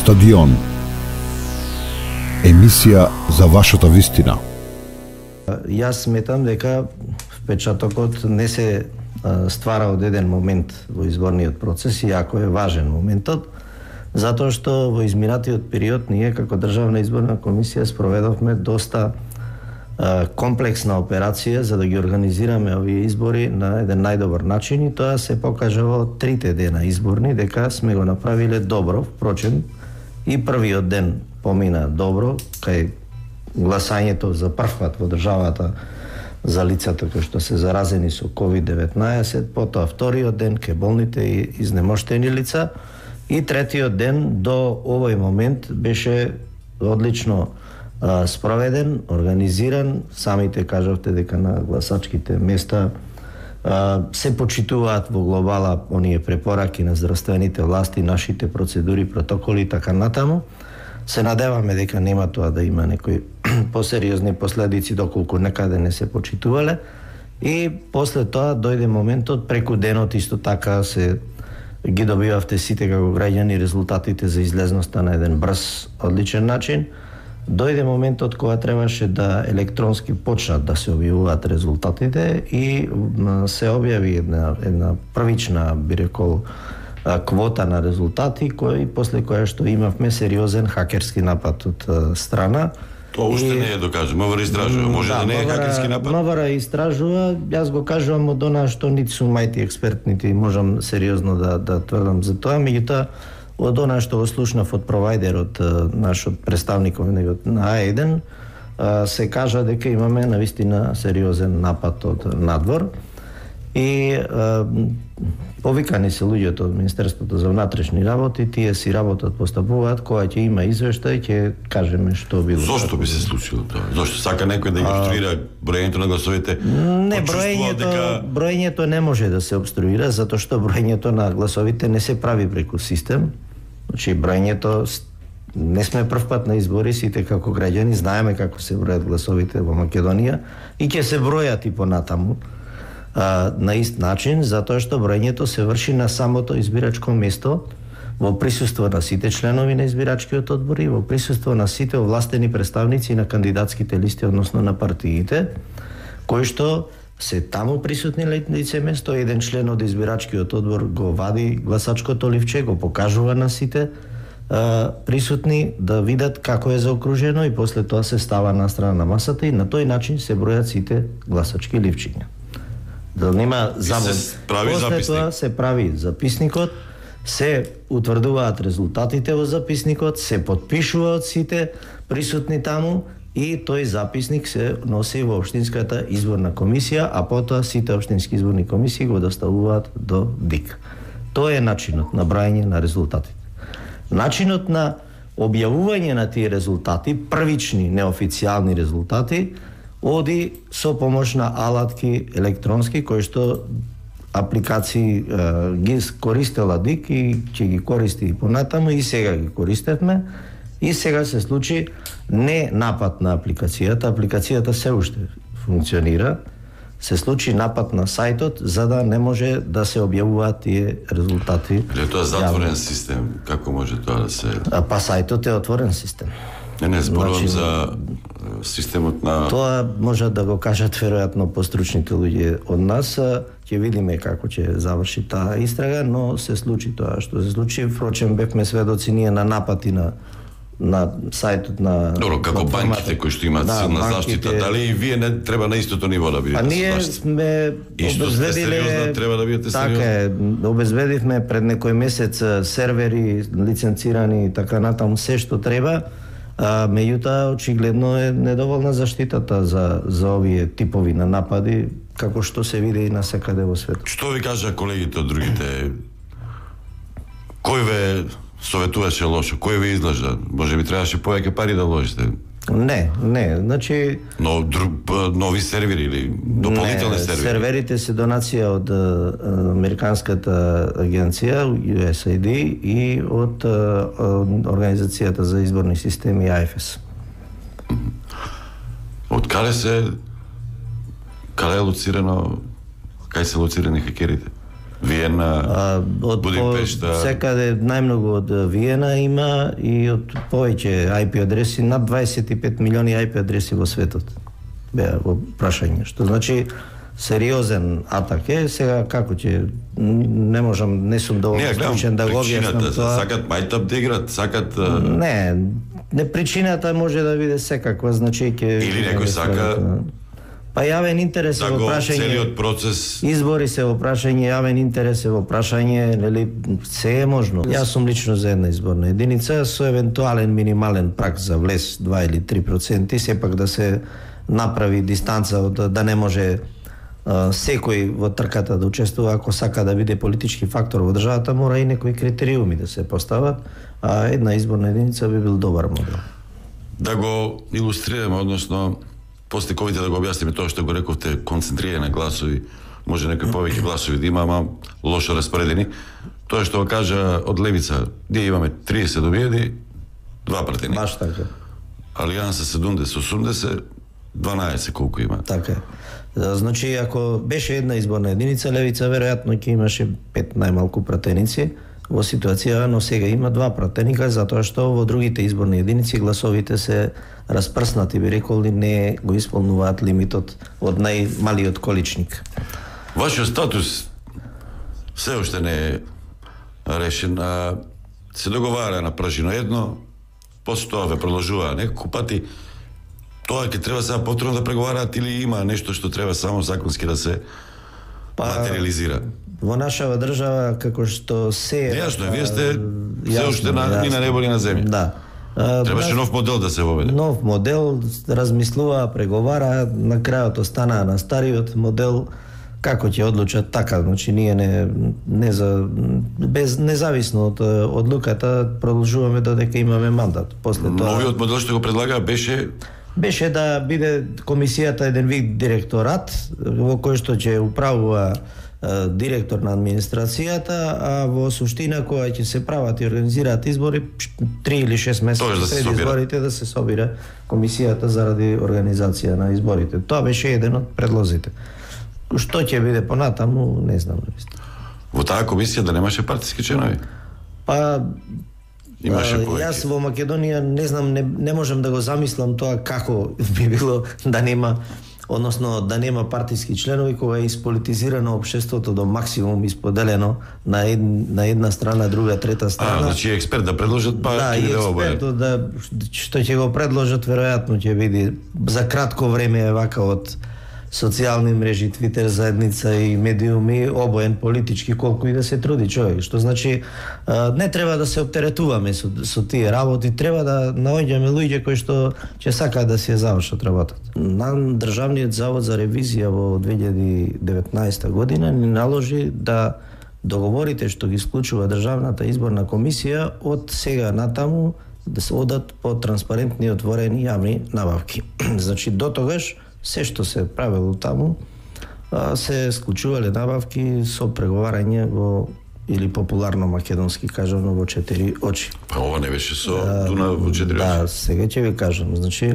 Стадион. Емисија за вашата вистина. Јас сметам дека впечатокот не се ствара од еден момент во изборниот процес, иако е важен моментот, затоа што во изминатиот период ние како Државна изборна комисија спроведовме доста комплексна операција за да ги организираме овие избори на еден најдобар начин, и тоа се покажа во 3 дена изборни дека сме го направиле добро. Впрочем, и првиот ден помина добро, кај гласањето за прв пат во државата за лицата кои што се заразени со COVID-19, потоа вториот ден ке болните и изнемоштени лица, и третиот ден до овој момент беше одлично спроведен, организиран. Самите кажавте дека на гласачките места се почитуваат во глобала оние препораки на здравствените власти, нашите процедури, протоколи и така натаму. Се надеваме дека нема тоа да има некои посериозни последици доколку некаде не се почитувале. И после тоа дојде моментот преку денот, исто така се ги добивавте сите како граѓани резултатите за излезноста на еден брз, одличен начин. Дојде моментот кога требаше да електронски почнат да се објавуваат резултатите и се објави една првична, би рекол, квота на резултати, после која што имавме сериозен хакерски напад од страна. Тоа уште не е докажано. МВР истражува. Може да не е хакерски напад? МВР истражува. Јас го кажувам од она што нити сум мајти експерт, нити можам сериозно да тврдам за тоа, меѓутоа од она што го слушнав од провајдерот, нашот представников на А1, се кажа дека имаме навистина сериозен напад од надвор. И повикани се луѓето од Министерството за внатрешни работи, тие си работат, постапуваат, кога ќе има извештај, ќе кажеме што било. Зошто би се случило тоа? Зошто сака некој да ги обструира броењето на гласовите? Не, броењето не може да се обструира, затоа што броењето на гласовите не се прави преку систем. Значи, броењето, не сме прв пат на избори, сите како граѓани знаеме како се бројат гласовите во Македонија и ќе се бројат и понатаму на ист начин, затоа што броењето се врши на самото избирачко место, во присуство на сите членови на избирачкиот одбор и во присуство на сите овластени представници на кандидатските листи, односно на партиите, кои што се таму присутни лице место. Еден член од избирачкиот одбор го вади гласачкото ливче, го покажува на сите присутни да видат како е заокружено, и после тоа се става на страна на масата и на тој начин се бројат сите гласачки ливчиња. Да нема завод. После тоа се прави записникот, се утврдуваат резултатите во записникот, се подпишува од сите присутни таму и тој записник се носи во Општинската изборна комисија, а потоа сите општински изборни комисии го доставуваат до ДИК. Тоа е начинот на брајање на резултатите. Начинот на објавување на тие резултати, првични неофицијални резултати, оди со помош на алатки електронски, кои што апликации ги користела ДИК и ќе ги користи и понатаму, и сега ги користевме. И сега се случи не напад на апликацијата се уште функционира, се случи напад на сајтот за да не може да се објавуваат тие резултати. Е тоа затворен систем, како може тоа да се... Па сајтот е отворен систем. Не зборувам за системот на... Тоа може да го кажат веројатно постручните луѓе од нас. Ќе видиме како ќе заврши таа истрага, но се случи тоа што се случи. Впрочем, бевме сведоци ние на напати на сајтот на... Добро, како банките кои што имаат силна заштита, дали и вие не треба на истото ниво да бидете? А ние сме обезбедиле... Треба да бидете сериозни? Така е, обезбедивме пред некој месец сервери, лиценцирани и така натаму, се што треба. Меѓутоа, очигледно е недоволна заштитата за овие типови на напади, како што се види и насекаде во светот. Што ви кажа колегите од другите? Кој ве советуваше лошо? Кој ви излажа? Може би требаше повеќе пари да вложите? Не, значи... Но нови сервери или дополнителни сервери? Серверите се донација од американската агенција USAID и од Организацијата за изборни системи IFS. Од каде е лоцирано, кај се лоцирани хакерите? Виена, Будимпешта. Секаде најмногу од Виена има и од повеќе IP адреси, над 25 милиони IP адреси во светот беа во прашање, што значи сериозен атак е. Сега како ќе не можам, не сум доволно стручен да го објаснам тоа. Сакат мајтап да играт, сакат Не причината може да биде секаква, значи ќе или некој сака па јавен интерес да во прашање. Целиот процес Избори се во прашање, јавен интерес е во прашање, нели се е можно. Јас сум лично за една изборна единица со евентуален минимален праг за влез 2 или 3%, сепак да се направи дистанца од да не може секој во трката да учествува. Ако сака да биде политички фактор во државата, мора и некои критериуми да се постават, а една изборна единица би бил добар модел. Да го илустрираме, односно после ковите да го објасниме тоа што го рековте, концентрирање на гласови, може некои повеќе гласови да има, ама лошо распоредени. Тоа што го кажа од левица, ние имаме 30 добиени, 2 пратени. Баш така. Алијанса 70-80, 12 колку има. Така е. Значи, ако беше една изборна единица, левица веројатно ќе имаше 5 најмалку пратеници во ситуација, но сега има 2 пратеника, затоа што во другите изборни единици гласовите се распрснати, би рекол, и не го исполнуваат лимитот од најмалиот количник. Вашиот статус се уште не е решен, се договара на прашино едно, после тоа ве продолжува неколку пати. Тоа ќе треба сега повторно да преговараат или има нешто што треба само законски да се материализира? Во нашава држава, како што се... Јасно, вие сте се уште ни на небо ни на земја. Да. Требаше нов модел да се воведе. Нов модел, размислува, преговара, на крајот останаа на стариот модел. Како ќе одлучат така, значи ние независно од одлуката продолжуваме додека имаме мандат. После тоа новиот модел што го предлага беше да биде комисијата еден вид директорат во кој што ќе управува директор на администрацијата, а во суштина која ќе се прават и организираат избори 3 или 6 месеци пред изборите да се собира комисијата заради организација на изборите. Тоа беше еден од предлозите. Што ќе биде понатаму, не знам. Во таа комисија да немаше партиски членови? Па имаше повеќе. Јас во Македонија не знам, не можам да го замислам тоа како би било да нема, односно да нема партиски членови кога е исполитизирано општеството до максимум, исподелено на една страна, друга, трета страна. Значи експерт да предложат, па да, и експертот што ќе го предложат веројатно ќе биде за кратко време е вака од социјални мрежи, Твитер заедница и медиуми, обоен политички, колку и да се труди човек. Што значи, не треба да се оптеретуваме со тие работи, треба да наоѓаме луѓе кои што ќе сакаат да се завршат работата. На Државниот завод за ревизија во 2019 година ни наложи да договорите што ги склучува Државната изборна комисија од сега натаму да се одат по транспарентни, отворени јавни набавки. Значи, до тогаш се што се правело таму, се склучувале набавки со преговарање во, или популарно македонски кажано, во 4 очи. Па ова не беше со Дуна во 4 очи? Да, сега ќе ви кажам. Значи,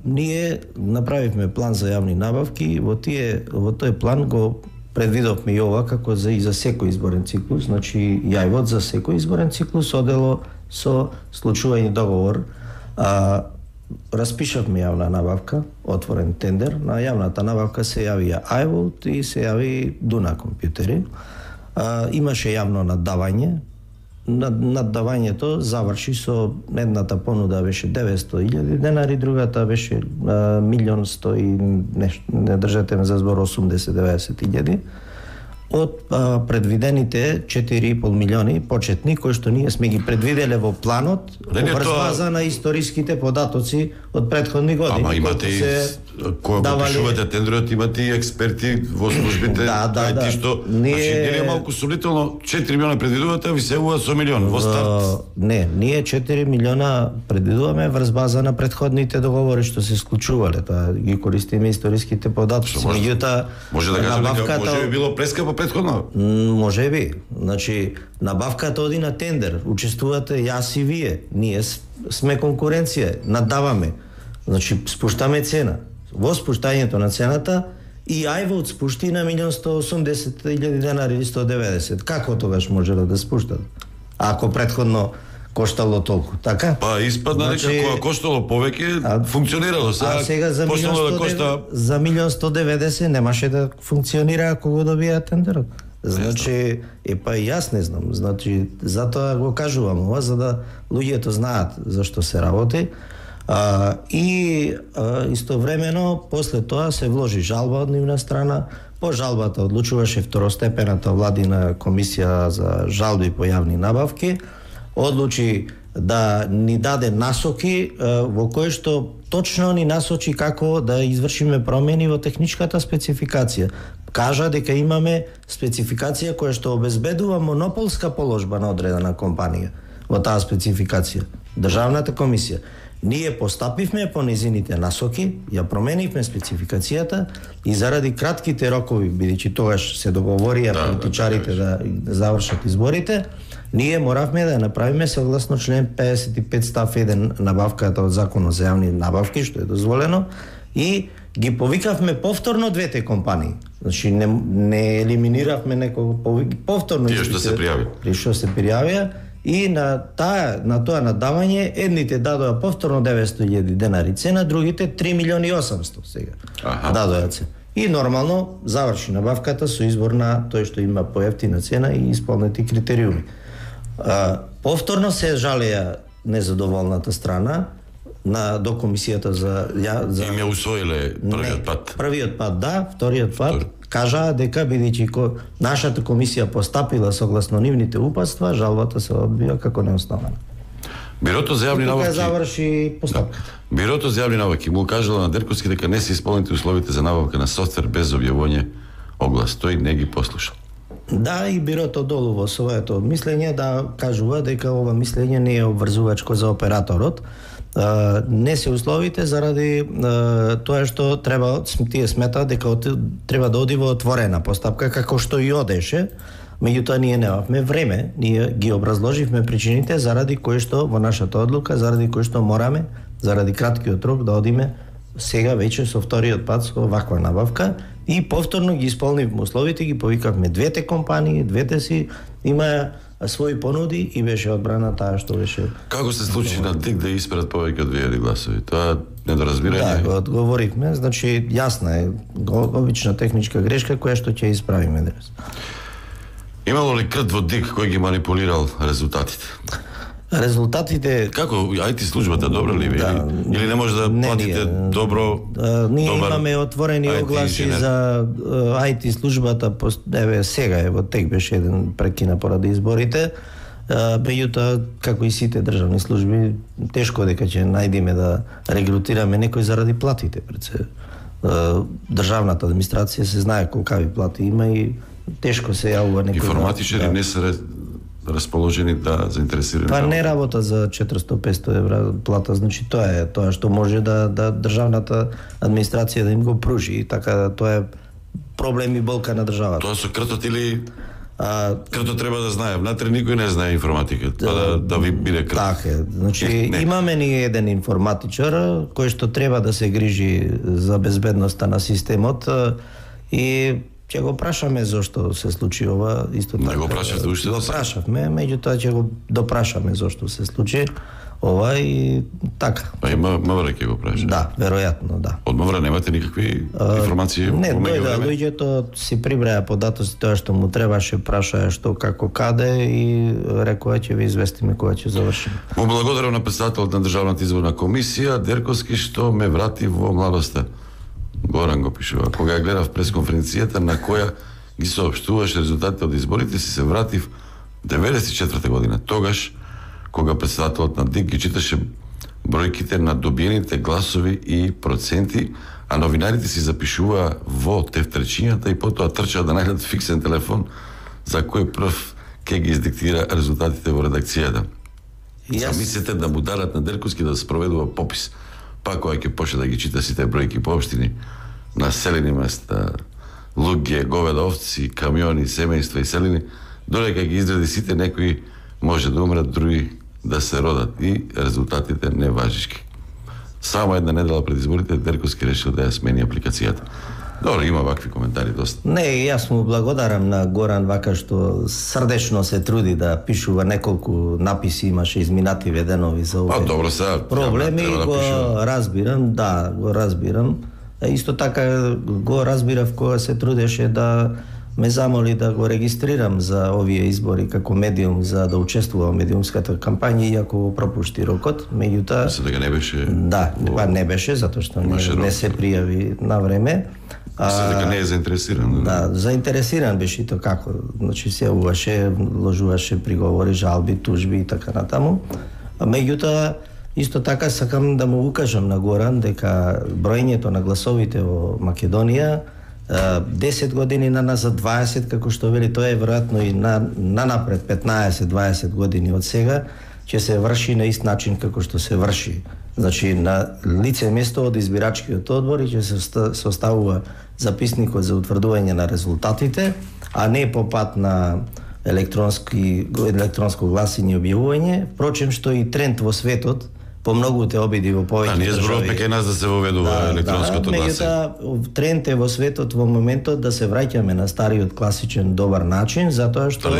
ние направивме план за јавни набавки, во тој план го предвидовме и ова како и за секој изборен циклус, значи јајвот за секој изборен циклус одело со склучување договор. Распишавме јавна набавка, отворен тендер. На јавната набавка се јавија iVote и се јави Дуна компјутери. Имаше јавно наддавање. Наддавањето заврши со едната понуда беше 900.000 денари, другата беше 1.100.000 и нешто, не држете ме за збор, 80-90.000. Од предвидените 4,5 милиони почетни, кои што ние сме ги предвиделе во планот, врз база на историските податоци од претходни години. Ама имате и, кога го пишувате тендерот, имате и експерти во службите, IT што, значи, дели е малку сумнително, 4 милиона предвидувате, а ви се ува со милион во старт? Не, ние 4 милиона предвидуваме врз база на претходните договори што се склучувале, тоа ги користиме историските податоци. Меѓутоа, може да кажеме дека може би било прескапо претходно? Може би. Значи, набавката оди на тендер, учествувате јас и вие. Ние сме конкуренција, наддаваме. Значи, спуштаме цена. Во спуштањето на цената и iVote спушти на 1.180.000 денари или 190. Како тогаш можело да спуштат? Ако претходно коштало толку, така? Па испадна дека кога коштало повеќе, функционирало. Сега за 1.190 немаше да функционира ако го добија тендерот. Значи, па и јас не знам. Значи, затоа го кажувам ова, за да луѓето знаат зашто се работи. Истовремено, после тоа се вложи жалба од нивна страна. По жалбата одлучуваше второстепената владина комисија за жалби по јавни набавки. Одлучи да ни даде насоки во кои што точно ни насочи како да извршиме промени во техничката спецификација. Кажа дека имаме спецификација која што обезбедува монополска положба на одредена компанија во таа спецификација. Државната комисија. Ние постапивме по незините насоки, ја променивме спецификацијата и заради кратките рокови, бидејќи тогаш се договорија политичарите да завршат изборите, ние моравме да ја направиме согласно член 55 став 1 набавката од Законот за јавни набавки, што е дозволено, и ги повикавме повторно двете компании. Значи не елиминиравме некого, повторно тие што се пријави. Што се пријавија и на тоа надавање едните дадоа повторно 900.000 денари цена, другите 3.800.000 сега. Дадоа цена. И нормално заврши набавката со избор на тој што има поевтина цена и исполнети критериуми. Повторно се жалеа незадоволната страна до комисијата за и ме усвоиле првиот пат. Првиот пат да, вториот пат кажаа дека бидејќи нашата комисија постапила согласно нивните упатства, жалбата се одбива како неоснована. Бирото за јавни набавки заврши постапката. Бирото за јавни набавки му кажало на Дерковски дека не се исполнети условите за набавка на софтвер без објавување оглас. Тој не ги послуша. Да, и бирото долу во своето мислење да кажува дека ова мислење не е обврзувачко за операторот. Не се условите заради тоа што тие сметаат дека треба да оди во отворена постапка, како што и одеше. Меѓутоа ние немавме време, ние ги образложивме причините заради кои што во нашата одлука, заради кои што мораме, заради краткиот рок да одиме сега веќе со вториот пат со ваква набавка и повторно ги исполнивме условите, ги повикавме двете компании, двете си имаа своји понуди и беше одбрана таа што беше. Како се случи на ДИК да испрат повеќе од 2000 гласови? Тоа недоразбирање? Да, одговоривме, значи јасна е обична техничка грешка која што ќе исправиме денес. Имало ли крт во ДИК кој ги манипулирал резултатите? Резултатите... Како, IT службата добра ли ви? Или не може да платите добро? Ние имаме отворени огласи за IT службата, сега во тек беше еден прекина поради изборите, меѓутоа, како и сите државни служби, тешко дека ќе најдеме да регрутираме некој заради платите. Државната администрација се знае колкави плати има и тешко се јавува некој. Информатичари не се расположени да заинтересирани. Па не работа за 400-500 евра плата, значи тоа е тоа што може да државната администрација да им го пружи и така тоа е проблем и болка на државата. Тоа со кртот или кртот треба да знае, внатре никој не знае информатика, да ви биде крт. Така е, значи имаме ни еден информатичар кој што треба да се грижи за безбедноста на системот и ќе го прашаме зошто се случи ова, исто така. Не го прашавте уште да се? Прашавме, меѓутоа ќе го допрашаме зошто се случи ова и така. А и МВР ќе го праша? Да, веројатно, да. Од МВР немате никакви информации? Не, луѓето си прибраја податоци тоа што му требаше, прашаја што, како, каде и рекоа ќе ви известиме кога ќе завршиме. Му благодарам на претседателот на Државната изборна комисија Дерковски што ме врати во младоста. Горан го пишува. Кога ја гледав пресконференцијата на која ги соопштуваше резултатите од изборите, се вратив 94 година. Тогаш, кога претседателот на ДИК ги читаше бројките на добиените гласови и проценти, а новинарите си запишуваа во тефтерчињата и потоа трчаа да најдат фиксен телефон за кој прв ќе ги издиктира резултатите во редакцијата. Замислете да му дарат на Дерковски да спроведува попис. Па кога ќе почне да ги чита сите бројки по општини, населени места, луѓе, говеда, овци, камиони, семејства и селини, додека ги изреди сите, некои може да умрат, други да се родат и резултатите не важишки. Само една недела пред изборите Дерковски решил да ја смени апликацијата. Добро, има вакви коментари доста. Не, јас му благодарам на Горан вака што срдечно се труди да пишува, неколку написи имаше изминати веденови за овие добро, сега проблеми, да го пишува. разбирам, да, го разбирам. Исто така го разбирав кога се трудеше да ме замоли да го регистрирам за овие избори како медиум, за да учествувам во медиумската кампања, иако го пропушти рокот, меѓутоа Мислам дека не беше. да, не беше затоа што не се пријави на време. Мислам дека не е заинтересиран. Да, заинтересиран беше и тоа како, значи се уваше, ложуваше приговори, жалби, тужби и така натаму. Меѓутоа исто така сакам да му укажам на Горан дека броењето на гласовите во Македонија 10 години назад, 20, како што вели, тоа е веројатно и напред 15-20 години од сега, ќе се врши на ист начин како што се врши. Значи, на лице место од избирачкиот одбор и ќе се оставува записникот за утврдување на резултатите, а не по пат на електронско гласање и објавување. Впрочем, што и тренд во светот, по многуте обиди во повеќе држави. Ние зборуваме кај нас да се воведува електронското гласање. Меѓутоа, тренд е во светот во моментот да се враќаме на стариот класичен добар начин, затоа што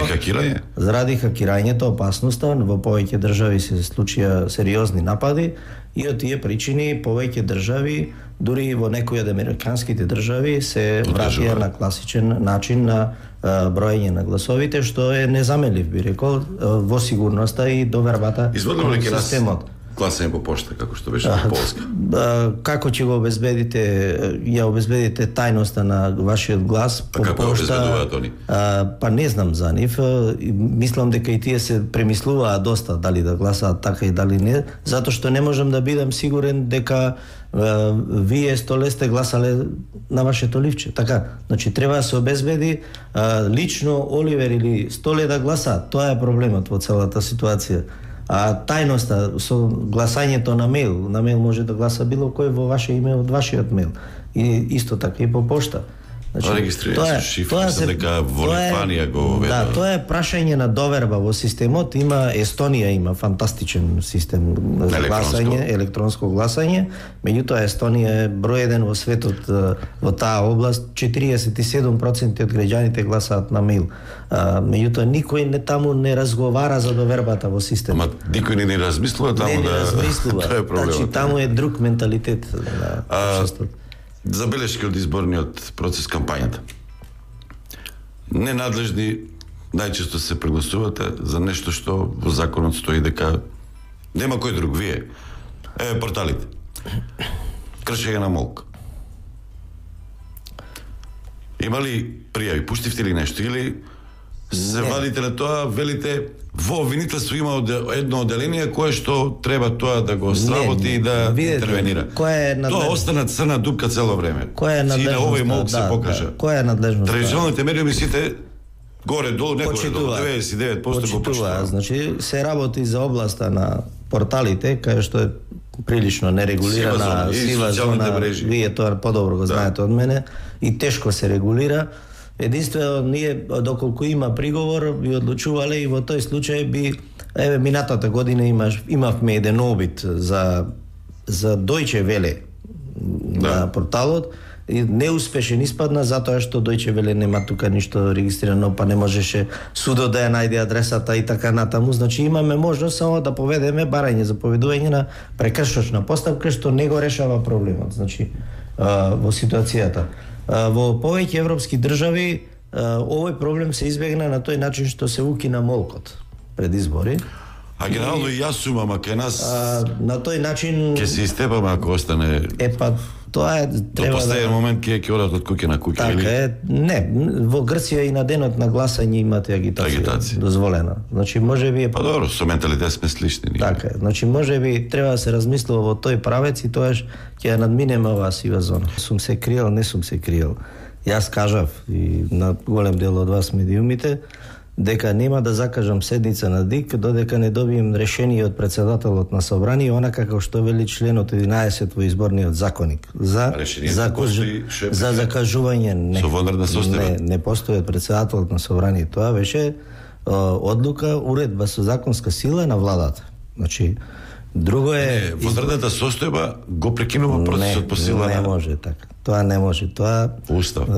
заради хакирањето, опасноста во повеќе држави се случија сериозни напади и од тие причини повеќе држави, дури и во некои од американските држави, се враќаја на класичен начин на броење на гласовите, што е незаменлив, би рекол, во сигурноста и довербата кон системот. Гласање по пошта, како што беше во Полска. Како ќе го обезбедите, ја обезбедите тајноста на вашиот глас по пошта? Како обезбедуваат они? Па не знам за нив. Мислам дека и тие се премислуваат доста дали да гласаат така и дали не, затоа што не можам да бидам сигурен дека вие Столе сте гласале на вашето ливче. Така, значи треба да се обезбеди лично Оливер или Столе да гласаат. Тоа е проблемот во целата ситуација. А тајноста со гласањето на мејл може да гласа било кој во ваше име од вашиот мејл. И исто така и по пошта. Регистрирање со шифра, дека во Литванија го воведе. Да, тоа е прашање на доверба во системот. Има Естонија има фантастичен систем за гласање, електронско гласање. Меѓутоа Естонија е број 1 во светот во таа област. 47% од граѓаните гласаат на мејл. Меѓутоа никој таму не разговара за довербата во системот. Ама никој не размислува таму тоа е проблемот. Значи таму е друг менталитет на општеството. Забелешки од изборниот процес, кампањата. Ненадлежни најчесто се прегласувате за нешто што во законот стои дека нема кој друг, вие. Порталите. Кршење на молк. Има ли пријави? Пуштивте ли нешто? Или се вадите на тоа, велите во обвинителство има едно оделение кое што треба тоа да го сработи и да интервенира. Тоа остана црна дупка цело време. Која е надлежноста? И на овој молк се покажа. Која е надлежноста? Традиционалните медиуми сите горе-долу, некој 99% го почитува. Значи, се работи за областа на порталите, кај што е прилично нерегулирана сива зона. Вие тоа подобро го знаете од мене и тешко се регулира. Единствено, ние, доколку има приговор, би одлучувале и во тој случај би, минатата година имавме еден обид за Deutsche Welle на порталот, и неуспешен испадна затоа што Deutsche Welle нема тука ништо регистрирано, па не можеше судот да ја најде адресата и така натаму. Значи имаме можност само да поведеме барање за поведување на прекршочна постапка, што не го решава проблемот. Значи во ситуацијата. Во повеќе европски држави овој проблем се избегна на тој начин што се укина молкот пред избори. А генерално и јас сум, ама кај нас на тој начин ќе се истепаме ако остане. Тоа е треба до последен момент ќе одат од куќе на куќе. Така е. Не, во Грција и на денот на гласање имате агитација дозволена. Значи можеби Па добро, со менталитет сме слични. Така е. Значи можеби треба да се размислува во тој правец и тоаш ќе ја надминеме оваа сива зона. Сум се криел, не сум се криел. Јас кажав и на голем дел од вас медиумите дека нема да закажам седница на ДИК додека не добием решение од председателот на собрание, онака како што вели членот 11 во изборниот законник. За закажување не постои од председателот на собрание. Тоа беше одлука, уредба со законска сила на владата. Значи Друго е Возредната состојба го прекинува процесот по сила не може така. Тоа не може. Тоа Устав.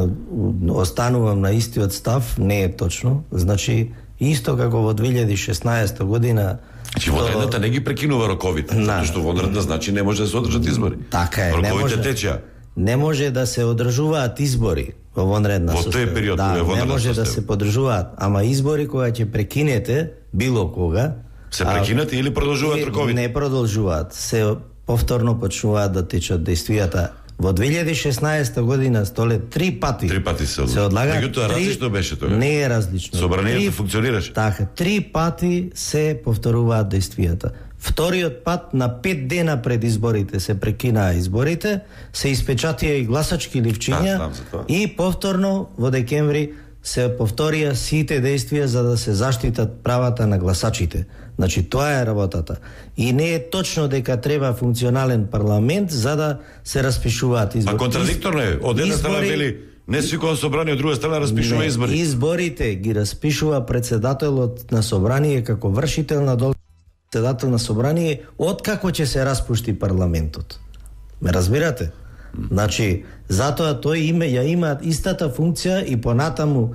Останувам на истиот став, не е точно. Значи исто како во 2016 година. Значи водредната не ги прекинува роковите, затоа што водредна значи не може да се одржат избори. Така е, роковите течеа. Не може да се одржуваат избори во вонредна состојба. Во тој период не може да се подржуваат, ама избори кога ќе прекинете било кога се прекинат или продолжуваат роковите? Не продолжуваат, се повторно почнуваат да течат действијата. Во 2016 година столе 3 пати се одлагат. Меѓутоа различно беше тоа. Не е различно. Собранието функционираше. Така, 3 пати се повторуваат действијата. Вториот пат на 5 дена пред изборите се прекинаа изборите, се испечатија и гласачки ливчиња и повторно во декември се повторија сите действија за да се заштитат правата на гласачите. Значи тоа е работата. И не е точно дека треба функционален парламент за да се распишуваат избори. А контрадикторно е. Од една страна вели не свикува собрание, од друга страна распишува избори. Изборите ги распишува председателот на собрание како вршител на председател на собрание откако ќе се распушти парламентот. Ме разбирате? Значи, затоа тој има истата функција и понатаму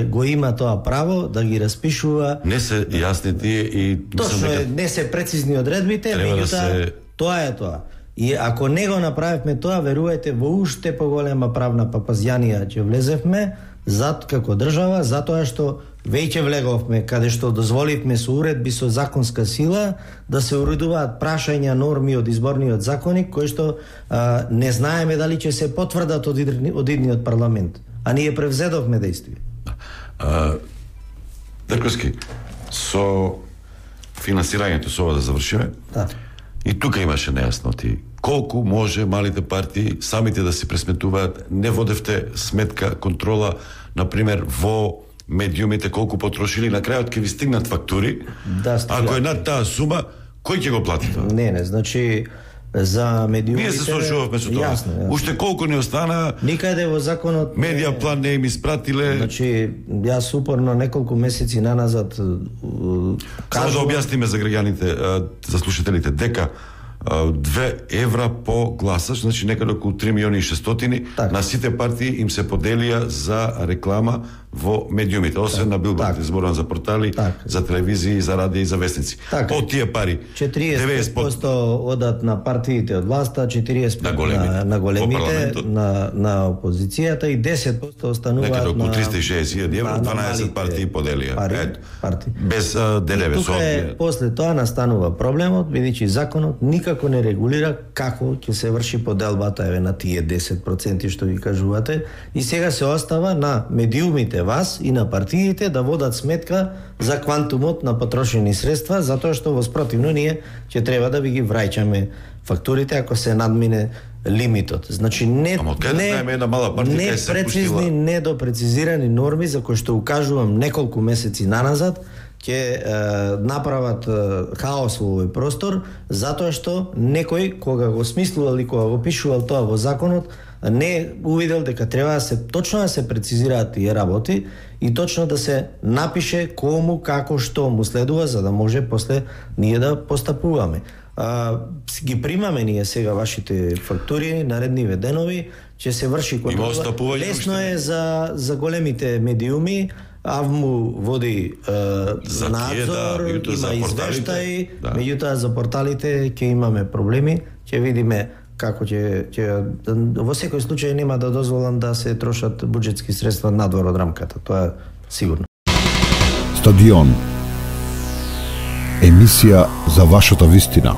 го има тоа право да ги распишува. Не се јасни тие и точно не се прецизни одредбите, меѓутоа тоа е тоа. И ако не го направивме тоа, верувајте, во уште поголема правна папазјанија ќе влезевме како држава, затоа што веќе влеговме каде што дозволивме со уредби со законска сила да се уредуваат прашања, норми од изборниот законник кои што не знаеме дали ќе се потврдат од идниот парламент, а ние превзедовме действие. Дрковски, со финансирањето со ова да завршиме. Да. И тука имаше нејасноти. Колку може малите партии самите да се пресметуваат? Не водевте сметка, контрола, например, во медиумите колку потрошили, на крајот ќе ви стигнат фактури. Да, ако е над таа сума, кој ќе го плати тоа? Не, значи за медиумите. Ние се слушувавме со тоа. Јасно. Уште колку не остана? Никаде во законот медија план не им испратиле. Значи јас упорно неколку месеци наназад само да објасниме за граѓаните, за слушателите, дека 2 евра по гласач, значи некаде околу 3.600.000 на сите партии им се поделија за реклама во медиумите, освен на билбордите, зборувам за портали, за телевизии, за радио и за вестници. Од тие пари 40% одат на партиите од власта, 40% на големите, на опозицијата и 10% остануваат на некаде околу 360.000 евро, 12 партии поделија. Без ДДВ. Тука после тоа настанува проблемот, бидејќи законот никако не регулира како ќе се врши поделбата на тие 10% што ги кажувате, и сега се остава на медиумите, вас и на партиите да водат сметка за квантумот на потрошени средства, затоа што во спротивно ние ќе треба да ви ги враќаме фактурите ако се надмине лимитот. Значи не прецизни, недопрецизирани норми за кои што укажувам неколку месеци наназад ќе направат хаос во овој простор, затоа што некој кога го смислувал и кога го пишувал тоа во законот не увидел дека треба точно да се прецизираат тие работи и точно да се напише кому, како, што му следува, за да може после ние да постапуваме. Ги примаме ние сега вашите фактури, наредниве денови, ќе се врши контрола. Лесно е за големите медиуми, АВМУ води надзор, има извештаи, меѓутоа за порталите ќе имаме проблеми, ќе видиме како ќе во секој случај нема да дозволам да се трошат буџетски средства надвор од рамката, тоа е сигурно. Стадион. Емисија за вашата вистина.